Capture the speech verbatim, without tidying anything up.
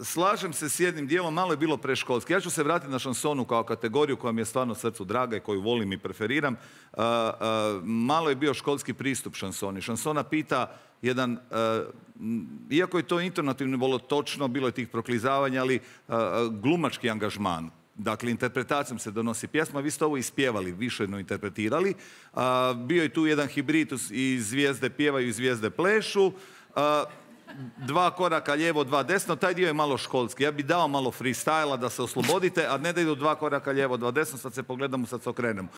slažem se s jednim dijelom, malo je bilo preškolski. Ja ću se vratiti na šansonu kao kategoriju koja mi je stvarno srcu draga i koju volim i preferiram. Uh, uh, malo je bio školski pristup šansoni. Šansona pita jedan, uh, iako je to intonativno bilo točno, bilo je tih proklizavanja, ali uh, glumački angažman. Dakle, interpretacijom se donosi pjesma, vi ste ovo ispjevali, više no interpretirali. Uh, bio je tu jedan hibrid i zvijezde pjevaju i zvijezde plešu. Uh, dva koraka lijevo, dva desno, taj dio je malo školski. Ja bi dao malo freestyla da se oslobodite, a ne da idu dva koraka lijevo, dva desno, sad se pogledamo, sad se okrenemo.